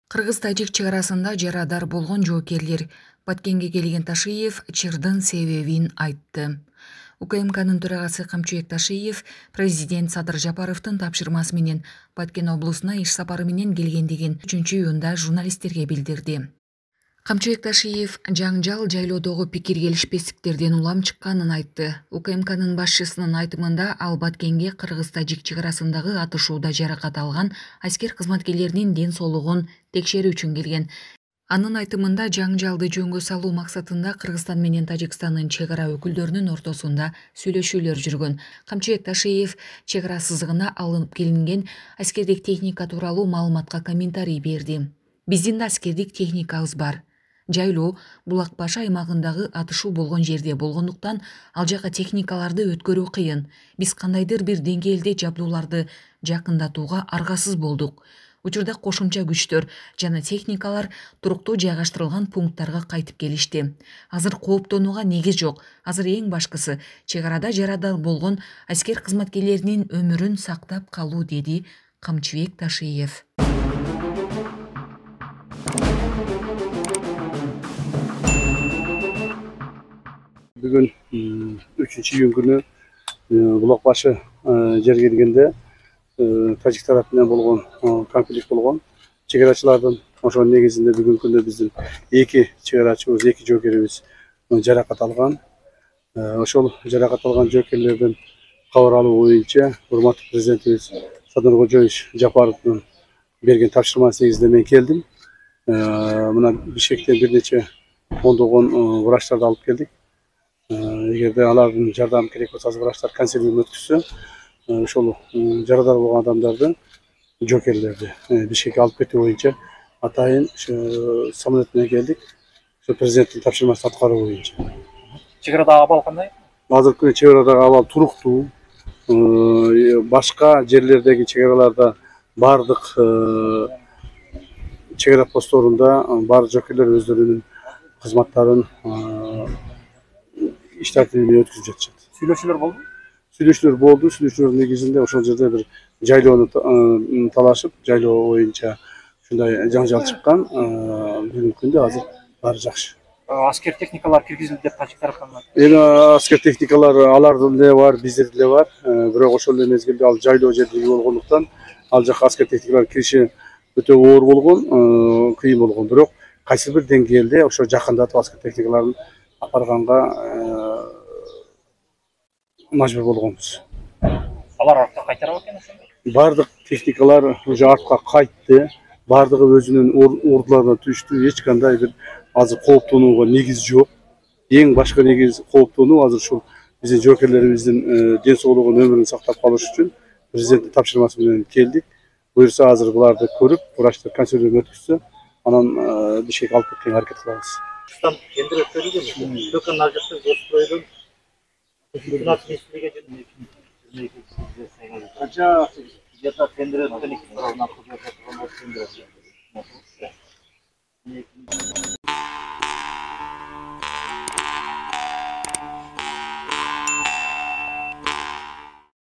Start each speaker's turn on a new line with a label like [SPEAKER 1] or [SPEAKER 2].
[SPEAKER 1] Кыргыз-тажик чегарасында жарадар болгон жоокерлер Баткенге келген Ташиев чырдын себебин айтты. УКМКнын төрагасы Камчыбек Ташиев президент Садыр Жапаровдун тапшырмасы менен Баткен облусуна иш сапары менен келгендигин 3-июнда журналисттерге билдирди. Камчыбек Ташиев жаңжал жайлоодогу пикир келишпестиктерден улам чыкканын айтты. УКМКнын башчысынын айтымында ал Баткенге Кыргыз-тажик чегарасындагы атышууда жаракат алган аскер кызматкерлеринин ден соолугун текшерүү үчүн келген. Анын айтымында жаңжалды жөнгө салуу максатында Кыргызстан менен Тажикстандын чегара өкүлдөрүнүн ортосунда сүйлөшүүлөр жүргөн. Камчыбек Ташиев чегара сызыгына алынып келинген аскердик техника тууралуу маалыматка комментарий берди. Биздин да аскердик техникабыз бар. Жайлоо Булак Башы аймагындагы атышуу болгон жерде болгондуктан ал жака техникаларды өткөрүү кыйын. Биз кандайдыр бир деңгээлде жабдууларды жакындатууга аргасыз болдук. Учурда кошумча күчтөр жана техникалар туруктуу жайгаштырылган пункттарга кайтып келишти. Азыр кооптонууга негиз жок. Азыр эң башкысы чегарада жарадар болгон аскер кызматкерлеринин өмүрүн сактап калуу, деди Камчыбек Ташиев.
[SPEAKER 2] Бүгүн 3-июнь күнү Булак Башы жерге келгенде тажик тарап менен болгон конфликт болгон. Чегарачылардын ошонун негизинде бүгүнкү күндө биздин 2 чегарачыбыз, 2 жоокерибиз жаракат алган. Ошол жаракат алган жоокерлерден кабар алуу боюнча урматтуу президентибиз Садыр Жапаровдун берген тапшырмасы негизинде мен келдим. Мына Бишкектен бир нече ондогон врачтарды алып келдик. Эгерде алардын жардамы керек болсо, азыр врачтар консилиум өткүзсө, ошол жарадар болгон адамдарды, жоокерлерди Бишкекке алып кетүү боюнча атайын самолет менен келдик. Ошо президенттин тапшырмасын аткаруу боюнча.
[SPEAKER 3] Чегарадагы абал кандай?
[SPEAKER 2] Азыркы күнү чегарадагы абал туруктуу. Башка жерлердеги чегараларда бардык чегара постторунда бар жоокерлер өздөрүнүн кызматтарын иш тартибине өткүзүп жатышат.
[SPEAKER 3] Сүйлөшүүлөр болду?
[SPEAKER 2] Сүйлөшүүлөр болду. Сүйлөшүүлөрдүн негизинде ошол жерде бир жайлоону талашып, жайлоо боюнча ушундай жаңжал чыккан. Бүгүнкү күндө азыр баары жакшы.
[SPEAKER 3] Аскер техникалар киргизилди деп тажик тараптан айтты.
[SPEAKER 2] Эми аскер техникалар алардын деле бар, биздин деле бар. Бирок ошол эле мезгилде ал жайлоо жерде болгондуктан ал жака аскер техникалар кириши өтө оор болгон, кыйын болгон. Бирок кайсы бир деңгээлде ошо жакындатып аскер техникаларын апарганга мажбур болгонбуз.
[SPEAKER 3] Алар артка кайтара экен ошондо?
[SPEAKER 2] Бардык техникалар уже артка кайтты. Бардыгы өзүнүн ордуларына түштү. Эч кандай бир азыр кооптонууга негиз жок. Эң башкы негиз кооптонуу азыр ушул биздин жоокерлерибиздин ден соолугун, өмүрүн сактап калыш үчүн президенттин тапшырмасы менен келдик. Буюрса азыр буларды көрүп, врачтар консилиум өткүзсө, анан Бишкекке алып кеткенге аракет кылабыз.
[SPEAKER 3] Тендер өткөрүлдүмү? Төкөн ажыктык жоспордон Канча тендер өткөн